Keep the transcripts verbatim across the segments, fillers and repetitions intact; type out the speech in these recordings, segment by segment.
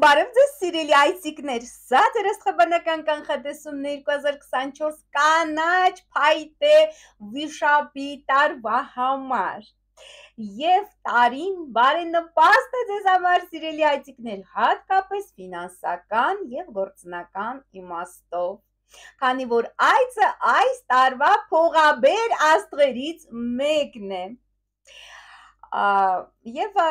Բարև ձեզ սիրելի այցիկներ, սա ձեր աստղաբանական կանխատեսումն է երկու հազար քսանչորս կանաչ փայտե վիշապի տարվա համար եւ տարին բարենպաստ է ձեզ համար սիրելի այցիկներ, հատկապես ֆինանսական եւ գործնական իմաստով, քանի որ այցը այս տարվա փողաբեր աստղերից մեկն է եւ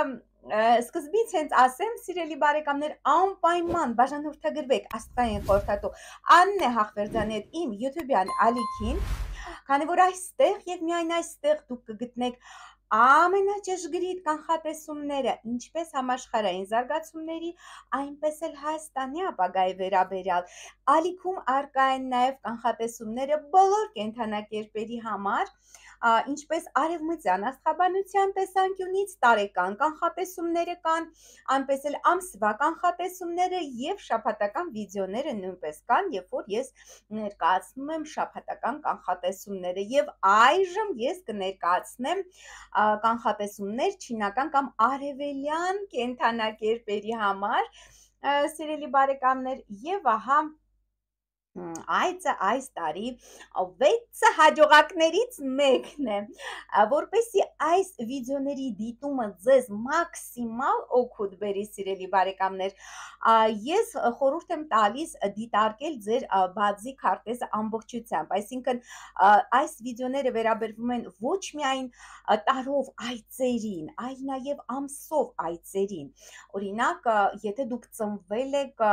Սկզբից հենց ասեմ, սիրելի բարեկամներ, անպայման բաժանորդագրվեք աստղային խորհրդատու Աննե Հախվերդյանի հետ իմ YouTube-յան ալիքին, քանի որ այստեղ եւ միայն այստեղ դուք կգտնեք ամենաճշգրիտ կանխատեսումները, ինչպես համաշխարհային զարգացումների, այնպես էլ Հայաստանի ապագայի վերաբերյալ։ Ալիքում առկա են նաեւ կանխատեսումները բոլոր կենդանակերպերի համար, ինչպես արևմտյան աստղաբանության տեսանկյունից տարեկան կանխատեսումները կան, այնպես էլ ամսվա կանխատեսումները եւ շաբաթական վիդեոները նույնպես կան, երբ որ ես ներկայացնում եմ շաբաթական կանխատեսումները եւ այժմ ես կներկայացնեմ կանխատեսումներ չինական կամ արևելյան կենդանակերպերի համար, սիրելի բարեկամներ, եւ ահա այցը այս տարի վեց հաջողակներից մեկն է, որպեսզի այս վիդեոների դիտումը ձեզ մաքսիմալ օգուտ բերի սիրելի բարեկամներ, ես խորհուրդ եմ տալիս դիտարկել ձեր բացի քարտեզը ամբողջությամբ, այսինքն այս վիդեոները վերաբերվում են ոչ միայն տարով այցերին, այլ նաև ամսով այցերին, օրինակ, եթե դուք ծնվել եք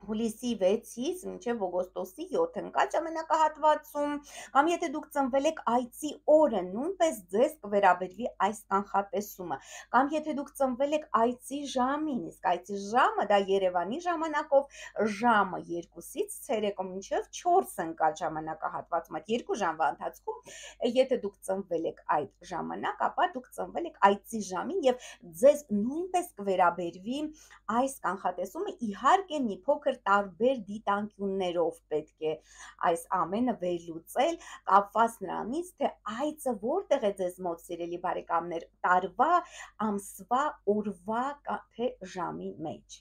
հուլիսի վեցից մինչև օգոստոսի յոթ ընկած ժամանակահատվածում, կամ եթե դուք ծնվել եք այցի օրը, նույնպես ձեզ կվերաբերվի այս կանխատեսումը, կամ եթե դուք ծնվել եք այցի ժամին, իսկ այցի ժամը դա Երևանի ժամանակով ժամը երկուսից ցերեկո մինչև չորս ընկած ժամանակահատվածում, այդ երկու ժամվա ընթացքում, եթե դուք ծնվել եք այդ ժամանակ, ապա դուք ծնվել եք այցի ժամին եւ ձեզ նույնպես կվերաբերվի այս կանխատեսումը, իհարկե մի փոքր տարբեր դիտանկյուններով պետք է այս ամենը վերլուծել, կապված նրանից, թե այցը որտեղ է ձեզ մոտ սիրելի բարեկամներ, տարվա, ամսվա, օրվա, թե ժամի մեջ։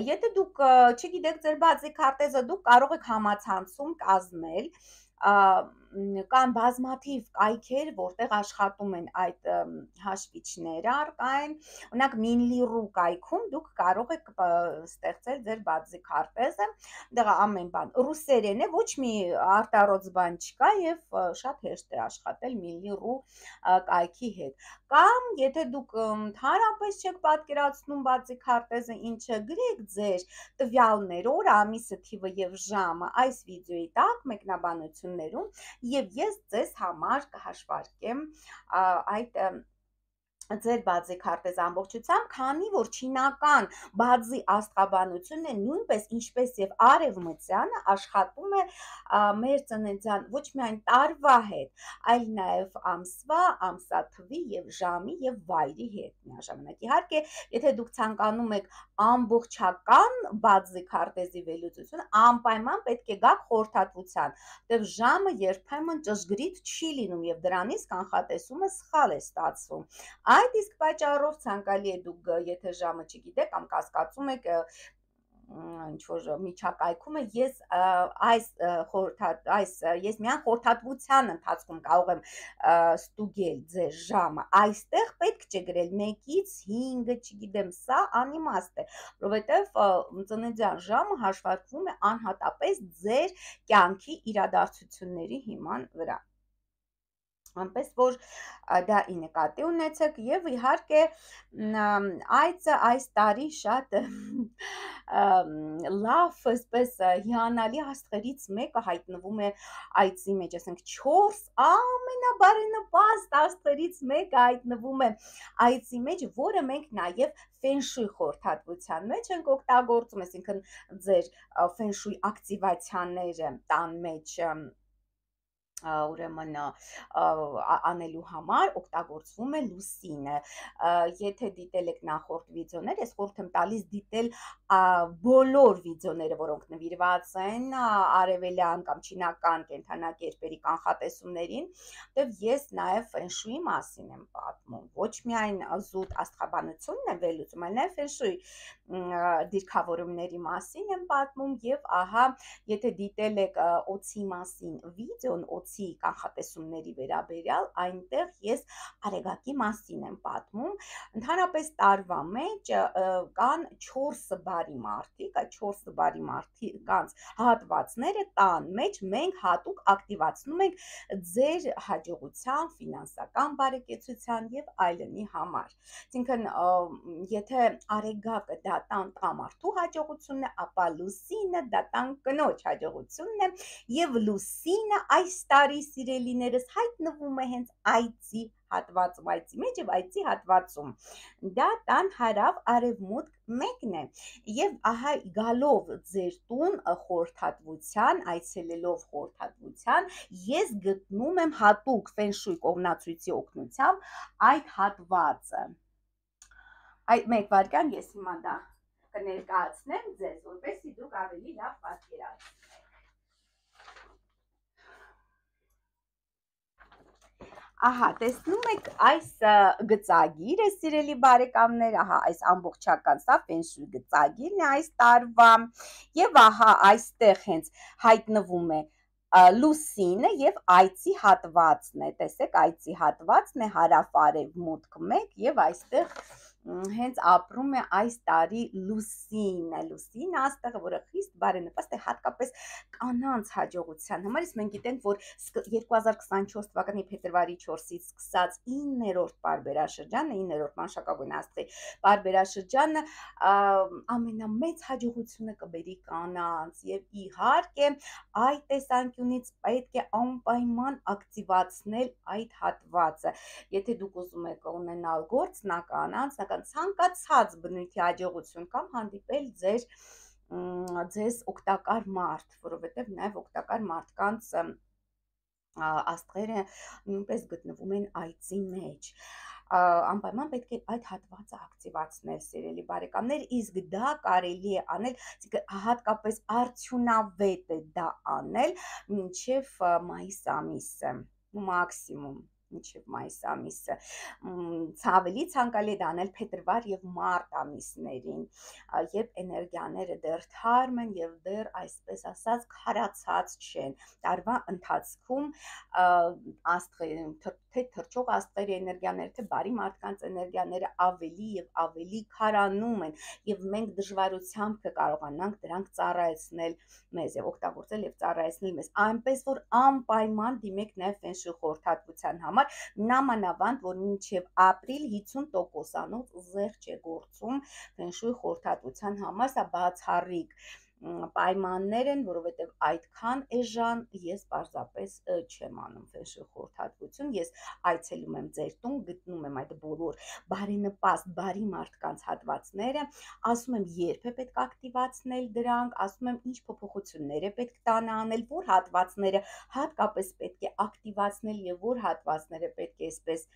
Եթե դուք չգիտեք ձեր բացի քարտեզը, դուք կարող եք համացանցում կազմել, կան բազմաթիվ կայքեր, որտեղ աշխատում են այդ հաշվիչները առկա են, օրինակ Մինլի.ru կայքում դուք կարող եք ստեղծել ձեր բացի քարտեզը, դեղ ամեն բան ռուսերեն է, ոչ մի արտառոց բան չկա եւ շատ հեշտ է աշխատել Մինլի.ru կայքի հետ, կամ եթե դուք ընդհանրապես չեք պատկերացնում բացի քարտեզը ինչը, գրեք ձեր տվյալներ, օրը, ամիսը, թիվը եւ ժամը այս վիդեոյի տակ մեկնաբանություններում եւ ես ձեզ համար կհաշվարկեմ այդ ձեր բացի քարտեզը ամբողջությամբ, քանի որ չինական բացի աստղաբանությունն է նույնպես ինչպես եւ արևմտյանը աշխատում է մեր ծննդյան ոչ միայն տարվա հետ, այլ նաեւ ամսվա, ամսաթվի եւ ժամի եւ վայրի հետ միաժամանակ։ Իհարկե, եթե դուք ցանկանում եք ամբողջական բացի քարտեզի վերլուծություն, անպայման պետք է գաք խորհրդատվության, դեռ ժամը երբեմն ճշգրիտ չի լինում եւ դրանից կանխատեսումը սխալ է ստացվում։ Այդ իսկ պատճառով ցանկալի է դուք, եթե ժամը չգիտեք կամ կասկածում եք ինչ-որ միջակայքում է, ես այս խորհրդատ, այս ես միայն խորհրդատվության ընթացքում կարող եմ ստուգել ձեր ժամը, այստեղ պետք չէ գրել մեկից հինգը, չգիտեմ, սա անիմաստ է, որովհետև ծննդյան ժամը հաշվարկվում է անհատապես ձեր կյանքի իրադարձությունների հիման վրա, այնպես որ դա ի նկատի ունեցեք եւ իհարկե այցը այս տարի շատ լավ, այսպես հիանալի աստղերից մեկը հայտնվում է այցի մեջ, ասենք չորս ամենաբարենպաստ աստղերից մեկը հայտնվում է այցի մեջ, որը մենք նաեւ ֆենշույ խորհրդատվության մեջ ենք օգտագործում, այսինքն ձեր ֆենշույ ակտիվացիաները տան մեջ ուրեմն անելու համար օգտագործվում է լուսինը։ Եթե դիտել եք նախորդ վիդեոներ, ես խորհուրդ եմ տալիս դիտել բոլոր վիդեոները, որոնք նվիրված են արևելյան կամ չինական կենդանակերպերի կանխատեսումներին, որտեղ ես նաև ֆենշուի մասին եմ պատմում։ Ոչ միայն զուտ աստղաբանությունն եմ վերլուծում, այլ նաև ֆենշուի դիրքավորումների մասին եմ պատմում, եւ ահա, եթե դիտել եք օձի մասին վիդեոն, օձի կանխատեսումների վերաբերյալ, այնտեղ ես արեգակի մասին եմ պատմում։ Ընդհանրապես տարվա մեջ կան չորս բարի մարդիկ, այդ չորս բարի մարդկանց հատվածները տան մեջ մենք հատուկ ակտիվացնում ենք ձեր հաջողության, ֆինանսական բարեկեցության եւ այլնի համար։ Այսինքն, եթե արեգակը դա տան տղամարդու հաջողությունն է, ապա լուսինը դա տան կնոջ հաջողությունն է, եւ լուսինը այս տարի, սիրելիներս, հայտնվում է հենց այծի հատվածում, այծի մեջ եւ այծի հատվածում, դա տան հարավ արևմուտք մեկն է, եւ ահա գալով ձեր տուն խորհրդատվության, այցելելով խորհրդատվության, ես գտնում եմ հատուկ ֆենշուի կողմնացույցի օգնությամբ այդ հատվածը։ Այդ մեկ վայրկյան ես հիմա դա կներկայացնեմ ձեզ, որպեսզի դուք ավելի լավ պատկերացնեք։ Ահա, տեսնում եք այս գծագիրը, սիրելի բարեկամներ, ահա այս ամբողջական սա ֆենշուի գծագիրն է այս տարվա, եւ ահա այստեղ հենց հայտնվում է լուսինը եւ այծի հատվածն է, տեսեք, այծի հատվածն է հարավ-արևմուտք մեկ, եւ այստեղ հենց ապրում է այս տարի լուսինը, լուսին աստղը, որը խիստ բարենպաստ է հատկապես կանանց հաջողության համար։ Իսկ մենք գիտենք, որ երկու հազար քսանչորս թվականի փետրվարի չորսից սկսած իններորդ պարբերաշրջանը, իններորդ մանշակագույն աստղի պարբերաշրջանը ամենամեծ հաջողությունը կբերի կանանց, եւ իհարկե այդ տեսանկյունից պետք է անպայման ակտիվացնել այդ հատվածը։ Եթե դուք ուզում եք ունենալ գործնական, անձնական, ցանկացած բնույթի հաջողություն կամ հանդիպել ձեր ձեզ օգտակար մարդ, որովհետև նաև օգտակար մարդկանց աստղերը նույնպես գտնվում են այծի մեջ, անպայման պետք է այդ հատվածը ակտիվացնել, սիրելի բարեկամներ, իսկ դա կարելի է անել, հատկապես արդյունավետ է դա անել մինչև մայիս ամիսը, մաքսիմում մինչև մայիս ամիսը, ավելի ցանկալի է դա անել փետրվար եւ մարտ ամիսներին, երբ էներգիաները դեռ թարմ են եւ դեռ, այսպես ասած, քարացած չեն։ Տարվա ընթացքում աստղերը, թե թրջող աստղերի էներգիաները, թե բարի մարդկանց էներգիաները ավելի եւ ավելի քարանում են, եւ մենք դժվարությամբ կկարողանանք դրանք ծառայեցնել մեզ եւ օգտագործել եւ ծառայեցնել մեզ, այնպես որ անպայման դիմեք նաեւ ֆենշուի խորհրդատվության համար, նամանավանդ որ մինչև ապրիլ հիսուն տոկոսանոց զեղչ է գործում ֆենշուի խորհրդատվության համար, սա բացառիկ պայմաններ են, որովհետև այդքան էժան ես պարզապես չեմ անում ֆենշուի խորհրդատվություն, ես այցելում եմ ձեր տուն, գտնում եմ այդ բոլոր բարենպաստ, բարի մարդկանց հատվածները, ասում եմ երբ է պետք ակտիվացնել դրանք, ասում եմ ինչ փոփոխություններ է պետք տանը անել, որ հատվածները հատկապես պետք է ակտիվացնել եւ որ հատվածները պետք է այսպես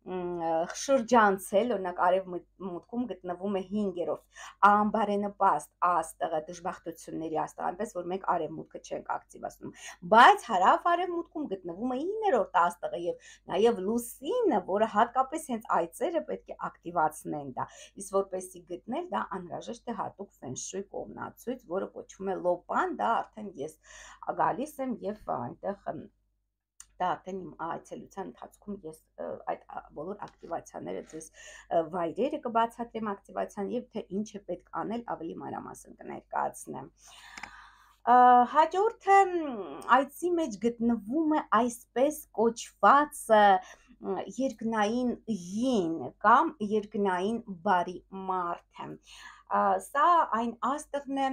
շրջանցել, օրինակ արևմուտքում գտնվում է հինգերորդ անբարենպաստ աստղը, դժբախտությունների աստղը, այնպես որ մենք արևմուտքը չենք ակտիվացնում, բայց հարավ-արևմուտքում գտնվում է իններորդ աստղը եւ նաեւ լուսինը, որը հատկապես հենց այծերը պետք է ակտիվացնեն դա, իսկ որպեսզի գտնել դա անհրաժեշտ է հատուկ ֆենշուի կողմնացույց, որը կոչվում է լոպան, դա արդեն ես գալիս եմ եւ այնտեղ դա արդեն իմ այցելության ընթացքում ես այդ բոլոր ակտիվացիաները ձեզ վայրերը կբացատրեմ ակտիվացիան եւ թե ինչ է պետք անել ավելի մանրամասն կներկայացնեմ։ Հաջորդը այցի մեջ գտնվում է այսպես կոչված երկնային յին կամ երկնային բարի մարդը։ Սա այն աստղն է,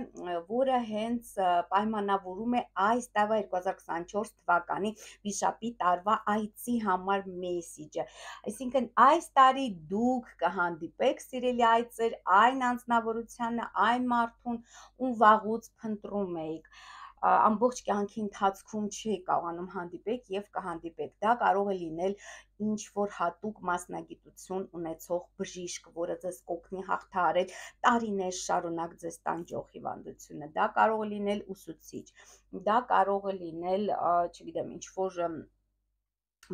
որը հենց պայմանավորում է այս տարվա երկու հազար քսանչորս թվականի վիշապի տարվա այցի համար մեսիջը, այսինքն այս տարի դուք կհանդիպեք, սիրելի այծեր, այն անձնավորությանը, այն մարդուն, ում վաղուց փնտրում էիք, ամբողջ կյանքի ընթացքում չի կարողանում հանդիպեք եւ կհանդիպեք։ Դա կարող է լինել ինչ որ հատուկ մասնագիտություն ունեցող բժիշկ, որը ձեզ կօգնի հաղթահարել տարիներ շարունակ ձեզ տանջող հիվանդությունը։ Դա կարող է լինել ուսուցիչ, դա կարող է լինել, չգիտեմ, ինչ որ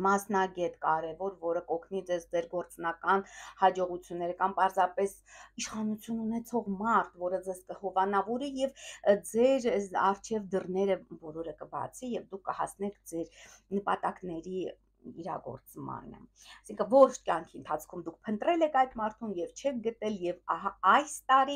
մասնագետ կարևոր, որը կօգնի ձեզ ձեր գործնական հաջողությունները, կամ պարզապես իշխանություն ունեցող մարդ, որը ձեզ կհովանավորի եւ ձեր առջև դռները բոլորը կբացի եւ դուք կհասնեք ձեր նպատակների իրագործմանը։ Այսինքն ոչ կյանքի ընթացքում դուք փնտրել եք այդ մարդուն եւ չեք գտել, եւ ահա այս տարի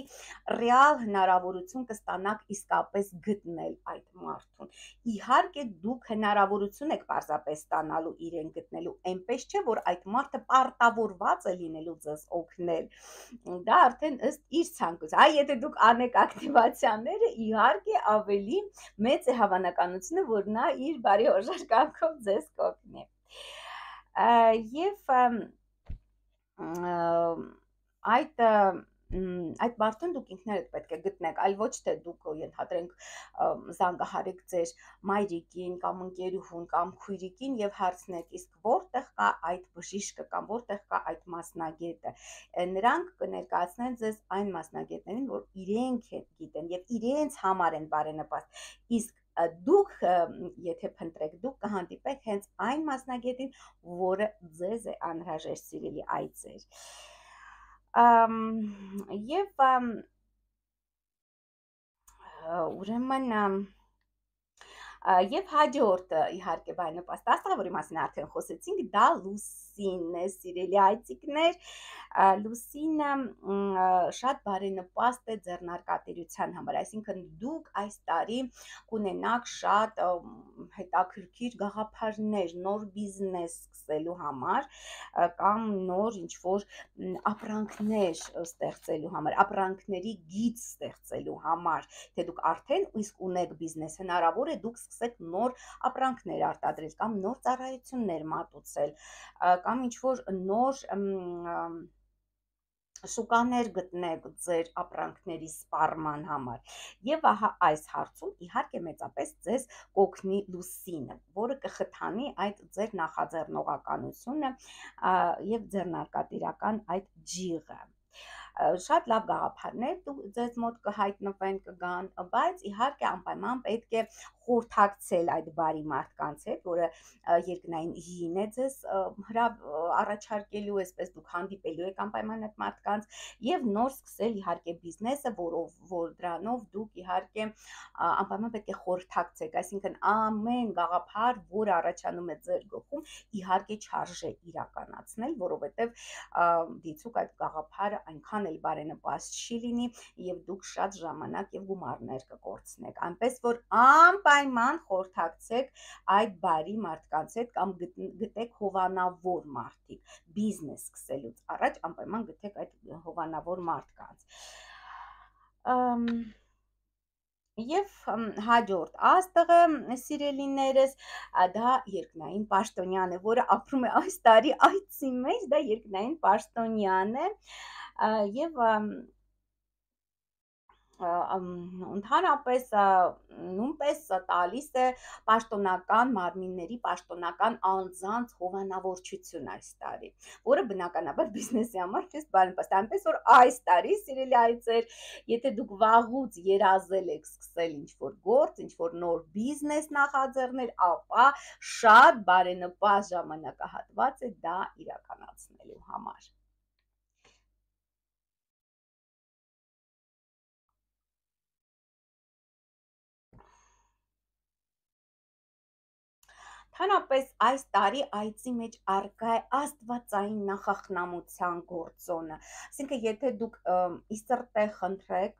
ռեալ հնարավորություն կստանաք իսկապես գտնել այդ մարդուն։ Իհարկե դուք հնարավորություն եք պարզապես ստանալու իրեն գտնելու, այնպես չէ որ այդ մարդը պարտավորված է լինելու ձեզ օգնել։ Դա արդեն ըստ իր ցանկության։ Այ եթե դուք անեք ակտիվացիաները, իհարկե ավելի մեծ է հավանականությունը, որ նա իր բարեհորժար կամքով ձեզ կօգնի։ Եվ այդ այդ մարդուն դուք ինքներդ պետք է գտնեք, այլ ոչ թե դուք ենթադրենք զանգահարեք ձեր մայրիկին կամ ընկերուհուն կամ քույրիկին եւ հարցնեք, իսկ որտեղ կա այդ բժիշկը կամ որտեղ կա այդ մասնագետը։ Նրանք կներկայացնեն ձեզ այն մասնագետներին, որ իրենք գիտեն եւ իրենց համար են բարենպաստ, իսկ դուք եթե փնտրեք, դուք կհանդիպեք հենց այն մասնագետին, որը ձեզ է անհրաժեշտ, սիրելի այծեր։ Եվ ուրեմն Եվ հաջորդը իհարկե բարենպաստ աստղը, որի մասին արդեն խոսեցինք, դա Լուսինն է, սիրելի այծիկներ։ Լուսինը շատ բարենպաստ է ձեռնարկատիրության համար, այսինքն դուք այս տարի կունենաք շատ հետաքրքիր գաղափարներ նոր բիզնես սկսելու համար կամ նոր ինչ-որ ապրանքներ ստեղծելու համար, ապրանքների գիծ ստեղծելու համար, թե դուք արդեն իսկ ունեք բիզնես, հնարավոր է դուք սկսեք նոր ապրանքներ արտադրել կամ նոր ծառայություններ մատուցել կամ ինչ-որ նոր շուկաներ գտնեք ձեր ապրանքների սպառման համար։ Եվ ահա այս հարցում իհարկե մեծապես ձեզ կօգնի Լուսինը, որը կխթանի այդ ձեր նախաձեռնողականությունը եւ ձեռնարկատիրական այդ ջիղը։ Շատ լավ գաղափարներ ձեզ մոտ կհայտնվեն, կգան, բայց իհարկե անպայման պետք է խորհրդակցել այդ բարի մարդկանց հետ, որը երկնային հին է ձեզ առաջարկելու, այսպես դուք հանդիպելու եք անպայման այդ մարդկանց եւ նոր սկսել իհարկե բիզնեսը, որով որ դրանով դուք իհարկե անպայման պետք է խորհրդակցեք, այսինքն ամեն գաղափար, որը առաջանում է ձեր գլխում, իհարկե չարժե իրականացնել, որովհետեւ դիցուք այդ գաղափարը այնքան էլ բարենպաստ չի լինի եւ դուք շատ ժամանակ եւ գումարներ կկորցնեք, այնպես որ անպայման խորհրդակցեք այդ բարի մարդկանց հետ կամ գտեք հովանավոր մարդիկ, բիզնես սկսելուց առաջ անպայման գտեք այդ հովանավոր մարդկանց։ Եվ հաջորդ աստղը, սիրելիներս, դա երկնային պաշտոնյան է, որը ապրում է այս տարի այծի մեջ, դա երկնային պաշտոնյան է եւ ընդհանրապես նույնպես տալիս է պաշտոնական մարմինների, պաշտոնական անձանց հովանավորչություն այս տարի, որը բնականաբար բիզնեսի համար քեզ բարենպաստ է, այնպես որ այս տարի, սիրելի այծեր, եթե դուք վաղուց երազել եք սկսել ինչ-որ գործ, ինչ-որ նոր բիզնես նախաձեռնել, ապա շատ բարենպաստ ժամանակահատված է դա իրականացնելու համար։ Ընդհանրապես այս տարի այծի մեջ առկա է աստվածային նախախնամության գործոնը, այսինքն եթե դուք իսրտե խնդրեք,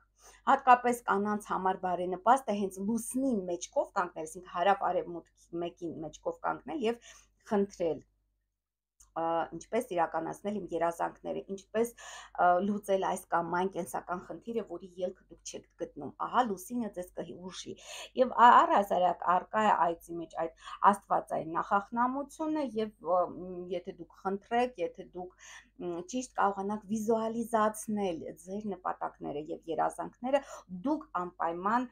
հատկապես կանանց համար բարենպաստ է հենց լուսնին մեջքով կանգնել, այսինքն հարավ արևմուտքի մեկին մեջքով կանգնել եւ խնդրել ինչպես իրականացնել իմ երազանքները, ինչպես լուծել այս կամ այն կենսական խնդիրը, որի ելքը դուք չեք գտնում, ահա լուսինը ձեզ կուժի, և առհասարակ առկա է այծի մեջ այդ աստվածային նախախնամությունը, և եթե դուք խնդրեք, եթե դուք ճիշտ կարողանաք վիզուալիզացնել ձեր նպատակները և երազանքները, դուք անպայման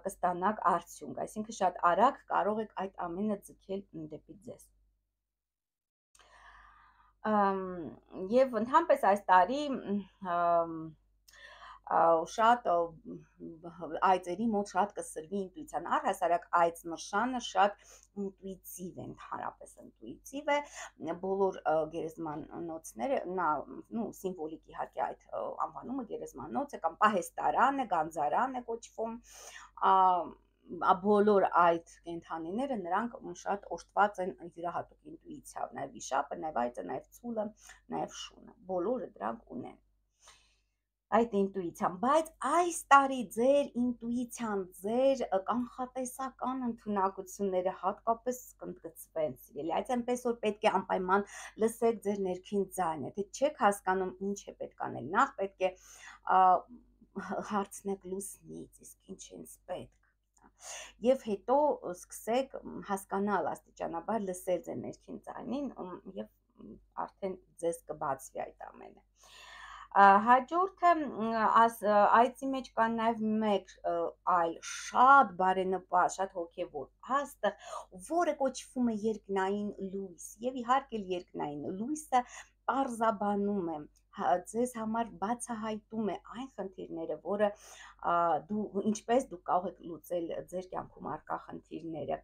կստանաք արդյունք, այսինքն շատ արագ կարող եք այդ ամենը ձգել դեպի ձեզ։ Եվ ընդհանրապես այս տարի շատ այծերի մոտ շատ կսրվի ինտուիցիան, առհասարակ այծ նշանը շատ ինտուիտիվ է, ընդհանրապես ինտուիտիվ է, բոլոր գերեզմանոցները, նա սիմվոլիկ իհարկե այդ անվանումը գերեզմանոց է կամ պահեստարան է, գանձարան է կոչվում, բոլոր այդ կենդանիները նրանք շատ օժտված են յուրահատուկ ինտուիցիայով, նաև վիշապը, նաև այծը, նաև ցուլը, նաև շունը, բոլորը դրանք ունեն այդ ինտուիցիան, բայց այս տարի ձեր ինտուիցիան, ձեր կանխատեսական ընդունակությունները հատկապես կընդգծվեն, սիրելի, այդ այնպես որ պետք է անպայման լսեք ձեր ներքին ձայնը, եթե չեք հասկանում ինչ է պետք անել, նախ պետք է հարցնեք լուսնից, իսկ ինչ ինձ պետք, և հետո սկսեք հասկանալ աստիճանաբար լսել ձեր ներքին ձայնին և արդեն ձեզ կբացվի այդ ամենը։ Հաջորդը այծի մեջ կա նաև մեկ այլ շատ բարենպաստ, շատ հոգևոր աստղ, որը կոչվում է երկնային լույս, և իհարկե երկնային լույսը պարզաբանում է, ձեզ համար բացահայտում է այն խնդիրները, որը ինչպես դուք կարող եք լուծել ձեր կյանքում առկա խնդիրները,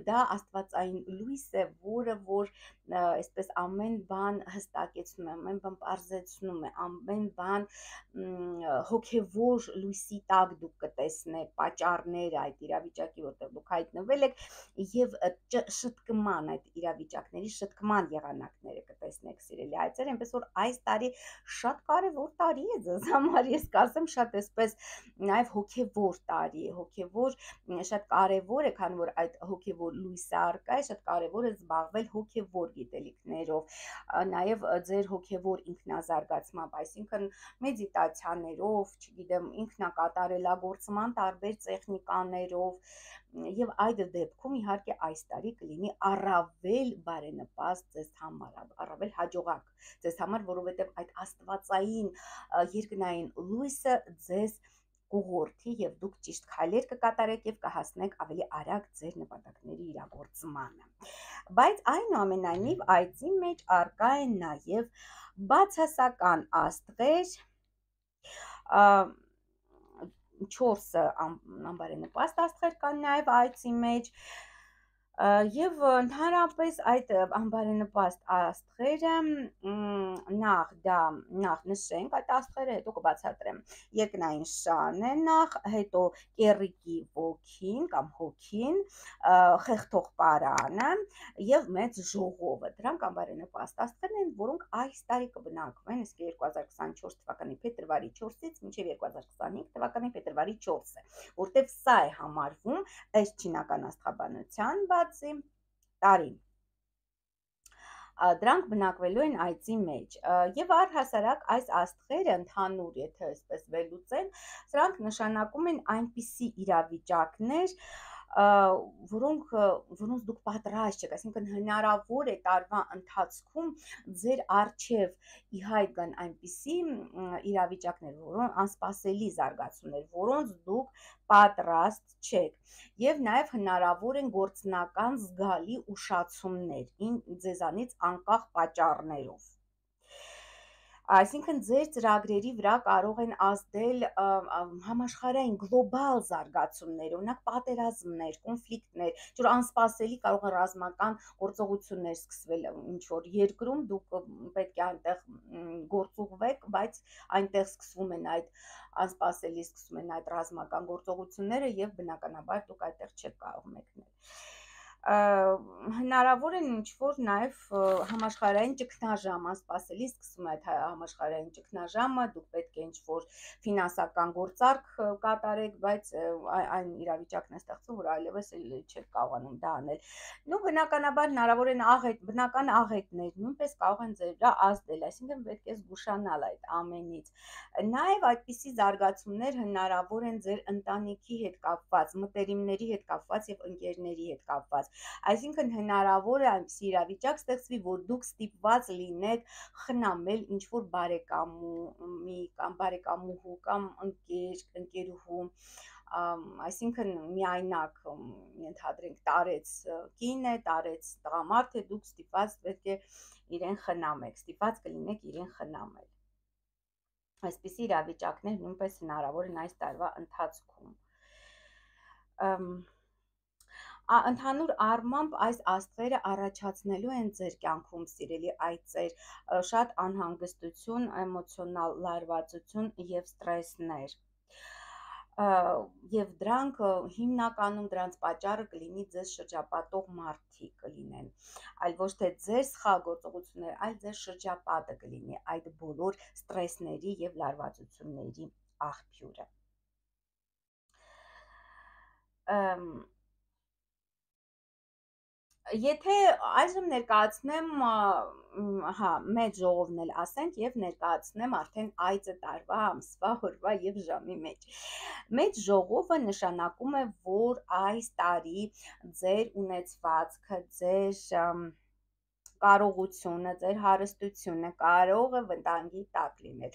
դա աստվածային լույս է, որը որ այսպես ամեն բան հստակեցնում է, ամեն բան պարզեցնում է, ամեն բան հոգևոր լույսի տակ դուք կտեսնեք պատճառները այդ իրավիճակի, որտեղ դուք հայտնվել եք, և շտկման, այդ իրավիճակների շտկման եղանակները կտեսնեք, սիրելի այծեր, այնպես որ այս տարի շատ կարևոր տարի է ձեզ համար, ես կասեմ շատ այսպես նաև հոգևոր տարի է, հոգևոր շատ կարևոր է, քանի որ այդ հոգևոր լույսը առկա է, շատ կարևոր է զբաղվել հոգևոր գիտելիքներով, նաև ձեր հոգևոր ինքնազարգացմամբ, այսինքն մեդիտացիաներով, չգիտեմ, ինքնակատարելագործման տարբեր տեխնիկաներով, և այդ դեպքում իհարկե այս տարի կլինի առավել բարենպաստ ձեզ համար, առավել հաջողակ ձեզ համար, որովհետև այդ աստվածային երկնային լույսը ձեզ կուղորդի և դուք ճիշտ քայլեր կկատարեք և կհասնեք ավելի արագ ձեր նպատակների իրագործմանը, բայց այնուամենայնիվ այծի մեջ առկա են նաև բացասական աստղեր, չորս անբարենպաստ աստղեր կան նաև այծի մեջ, և ընդհանրապես այդ անբարենպաստ աստղերը, նախ դա, նախ նշենք այդ աստղերը, հետո կբացատրեմ, երկնային շան է նախ, հետո կեռիկի ոգին կամ հոգին, խեղթող պարանը և մեծ ժողովը, դրանք անբարենպաստ աստղերն են, որոնք այս տարի կբնակվեն, իսկ երկու հազար քսանչորս թվականի փետրվարի չորսից մինչև երկու հազար քսանհինգ թվականի փետրվարի չորսը, որտև սա է համարվում ըստ չինական աստղաբանության բացի տարի, դրանք բնակվելու են այծի մեջ, և առհասարակ այս աստղերը ընդհանուր, եթե այսպես վերլուծեն, սրանք նշանակում են այնպիսի իրավիճակներ, որոնք որոնց դուք պատրաստ չեք, այսինքն հնարավոր է տարվա ընթացքում ձեր առջև ի հայտ գան այնպիսի իրավիճակներ, որոնք անսպասելի զարգացումներ, որոնց դուք պատրաստ չեք, և նաև հնարավոր են գործնական զգալի ուշացումներ ձեզանից անկախ պատճառներով, այսինքն ձեր ծրագրերի վրա կարող են ազդել համաշխարհային գլոբալ զարգացումներ, օրինակ պատերազմներ, կոնֆլիկտներ, ինչ-որ անսպասելի կարող են ռազմական գործողություններ սկսվել ինչ-որ երկրում, դուք պետք է այնտեղ գործուղվեք, բայց այնտեղ սկսվում են այդ անսպասելի սկսվում են այդ ռազմական գործողությունները և բնականաբար դուք այդտեղ չեք կարող մեկնել, Հնարավոր է ինչ-որ նաև համաշխարհային ճգնաժամ անսպասելի սկսում է այդ համաշխարհային ճգնաժամը, դուք պետք է ինչ-որ ֆինանսական գործարք կատարեք, բայց այն իրավիճակն է ստեղծում, որ այլևս չեք կարողանում դա անել։ Նու բնականաբար հնարավոր են աղետ, բնական աղետներ նույնպես կարող են ձեր վրա ազդել, այսինքն պետք է զգուշանալ այդ ամենից։ Նաև այդպիսի զարգացումներ հնարավոր են ձեր ընտանիքի հետ կապված, մտերիմների հետ կապված եւ ընկերների հետ կապված։ Այսինքն հնարավոր է այնպիսի իրավիճակ ստեղծվի, որ դուք ստիպված լինեք խնամել ինչ-որ բարեկամի կամ բարեկամուհու կամ ընկեր, ընկերուհու, այսինքն միայնակ ենթադրենք տարեց կին է, տարեց տղամարդ է, դուք ստիպված պետք է իրեն խնամեք, ստիպված կլինեք իրեն խնամել։ Այսպիսի իրավիճակներ նույնպես հնարավոր են այս տարվա ընթացքում։ Ընդհանուր առմամբ այս աստղերը առաջացնելու են ձեր կյանքում, սիրելի այծեր, շատ անհանգստություն, էմոցիոնալ լարվածություն եւ ստրեսներ։ Եվ դրանք հիմնականում դրանց պատճառը կլինի ձեզ շրջապատող մարդիկ կլինեն, այլ ոչ թե ձեր սխալ գործողություններ, այլ ձեր շրջապատը կլինի այդ բոլոր ստրեսների եւ լարվածությունների աղբյուրը։ Եթե այժմ ներկայացնեմ, հա, մեծ ժողովն էլ ասենք եւ ներկայացնեմ արդեն այծը տարվա, ամսվա, օրվա եւ ժամի մեջ։ Մեծ ժողովը նշանակում է, որ այս տարի ձեր ունեցվածքը, ձեր կարողությունը, ձեր հարստությունը կարող է վտանգի տակ լինել։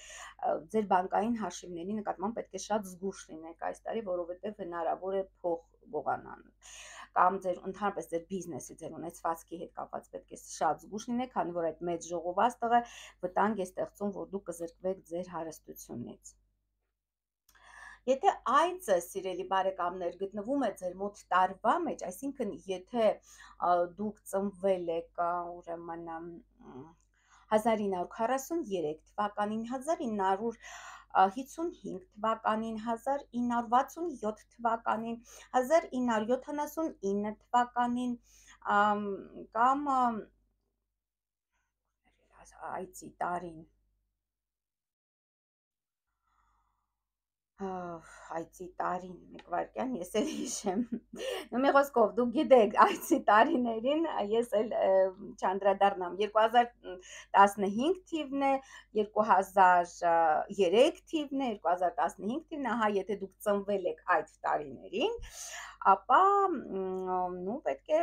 Ձեր բանկային հաշիվների նկատմամբ պետք է շատ զգուշ լինեք այս տարի, որովհետև հնարավոր է փող գողանալ, կամ ձեր ընդհանրապես ձեր բիզնեսի, ձեր ունեցվածքի հետ կապված պետք է շատ զգուշ լինեք, քանի որ այդ մեծ ժողովաստղը վտանգ է ստեղծում, որ դուք կզրկվեք ձեր հարստությունից։ Եթե այծը, սիրելի բարեկամներ, գտնվում է ձեր մոտ տարվա մեջ, այսինքն եթե դուք ծնվել եք ուրեմն հազար ինը հարյուր քառասուներեք թվականին, հազար ինը հարյուր հիսունհինգ թվականին, հազար ինը հարյուր վաթսունյոթ թվականին, հազար ինը հարյուր յոթանասունինը թվականին կամ այծի տարին այծի տարին, մեկ վարկյան, ես էլ հիշեմ, մի խոսքով, դուք գիտեք այծի տարիներին, ես էլ չանդրադառնամ, երկու հազար տասնհինգ թիվն է, երկու հազար երեք թիվն է, երկու հազար տասնհինգ թիվն է, հա, եթե դուք ծնվել եք այդ տարիներին, ապա նու պետք է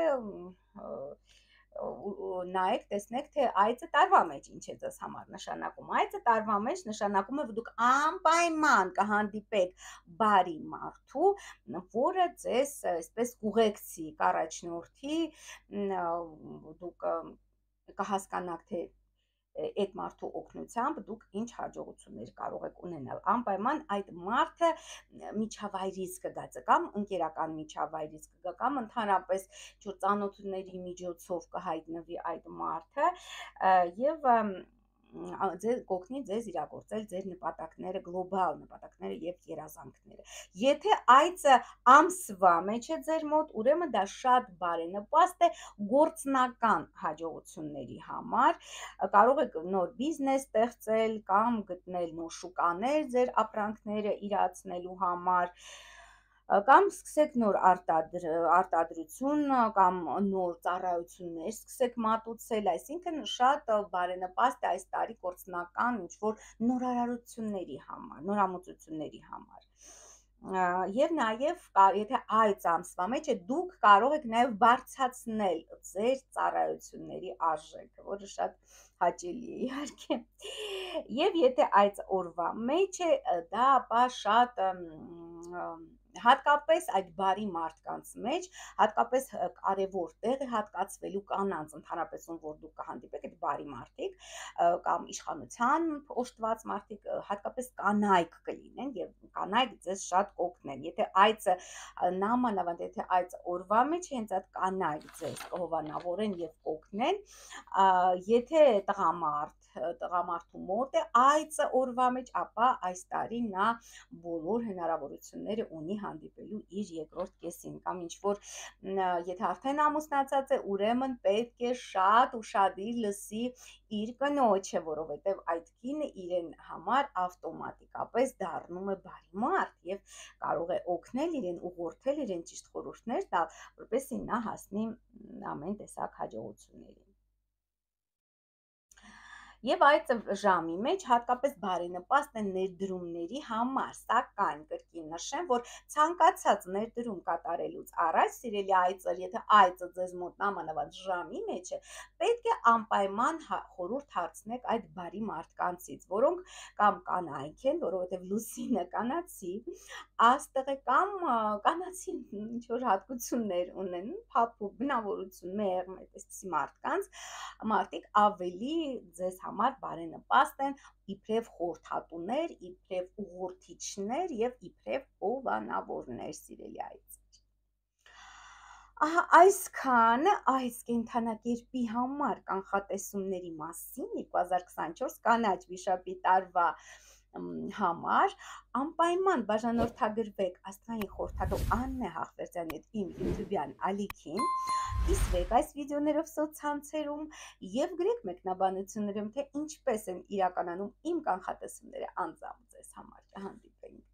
նայեք, տեսնեք, թե այծը տարվա մեջ ինչ է ձեզ համար նշանակում։ Այծը տարվա մեջ նշանակում է, որ դուք անպայման կհանդիպեք բարի մարդու, որը ձեզ այսպես կուղեկցի, կառաջնորդի, դուք կհասկանաք, թե այդ մարդու օգնությամբ դուք ինչ հաջողություններ կարող եք ունենալ։ Անպայման այդ մարդը միջավայրից կգա, կամ ընկերական միջավայրից կգա, կամ ընդհանրապես ծանոթների միջոցով կհայտնվի այդ մարդը եւ կօգնի ձեզ իրագործել ձեր նպատակները, գլոբալ նպատակները եւ երազանքները։ Եթե այծը ամսվա մեջ է ձեր մոտ, ուրեմն դա շատ բարենպաստ է գործնական հաջողությունների համար, կարող եք նոր բիզնես ստեղծել կամ գտնել նոր շուկաներ ձեր ապրանքները իրացնելու համար, կամ սկսեք նոր արտադրություն կամ նոր ծառայություններ սկսեք մատուցել, այսինքն շատ բարենպաստ է այս տարի գործնական ինչ-որ նորարարությունների համար, նորամուծությունների համար։ Եվ նաև, եթե այծ ամսվա մեջ է, դուք կարող եք նաև բարձրացնել ձեր ծառայությունների արժեքը, որը շատ հաճելի է իհարկե։ Եվ եթե այծ օրվա մեջ է, դա ապա շատ հատկապես այդ բարի մարդկանց մեջ, հատկապես կարևոր տեղ է հատկացվելու կանանց, ընդհանրապես ում որ դուք կհանդիպեք այդ բարի մարդիկ կամ իշխանության օժտված մարդիկ, հատկապես կանայք կլինեն եւ կանայք ձեզ շատ կօգնեն։ Եթե այծը նամանավանդ եթե այծը օրվա մեջ հենց այդ կանայք ձեզ կհովանավորեն եւ կօգնեն, եթե տղամարդ տղամարդու մոտ է այծը օրվա մեջ, ապա այս տարի նա բոլոր հնարավորությունները ունի հանդիպելու իր երկրորդ կեսին, կամ ինչ որ եթե արդեն ամուսնացած է, ուրեմն պետք է շատ ուշադիր լսի իր կնոջը, որովհետև այդ կինը իրեն համար ավտոմատիկապես դառնում է բարի մարդ եւ կարող է օգնել իրեն, ուղղորդել իրեն, ճիշտ խորհուրդներ տալ, որպեսզի նա հասնի ամեն տեսակ հաջողությունների։ Եվ այդ ժամի մեջ հատկապես բարենպաստ է ներդրումների համար, սակայն կրկին նշեմ, որ ցանկացած ներդրում կատարելուց առաջ, սիրելի այծեր, եթե այծը ձեզ մոտ նամանավանդ ժամի մեջ է, պետք է անպայման խորհուրդ հարցնեք այդ բարի մարդկանցից, որոնք կամ կանայք են, որովհետև լուսինը կանացի, աստղ է, կամ կանացի ինչ որ հատկություններ ունեն, փափուկ բնավորություն, մեղմ, այսպիսի մարդկանց, մարդիկ ավելի ձեզ համար բարենպաստ են իբրև խորհրդատուներ, իբրև ուղղորդիչներ եւ իբրև հովանավորներ, սիրելի այծեր։ Ահա այսքանը այս կենդանակերպի համար կանխատեսումների մասին երկու հազար քսանչորս կանաչ վիշապի տարվա համար անպայման բաժանորդագրվեք աստղային խորհրդատու Աննե Հախվերդյանի հետ իմ YouTube-յան ալիքին, կիսվեք այս վիդեոներով սոցցանցերում եւ գրեք մեկնաբանություններում, թե ինչպես են իրականանում իմ կանխատեսումները անձամբ ձեզ համար։ Կհանդիպենք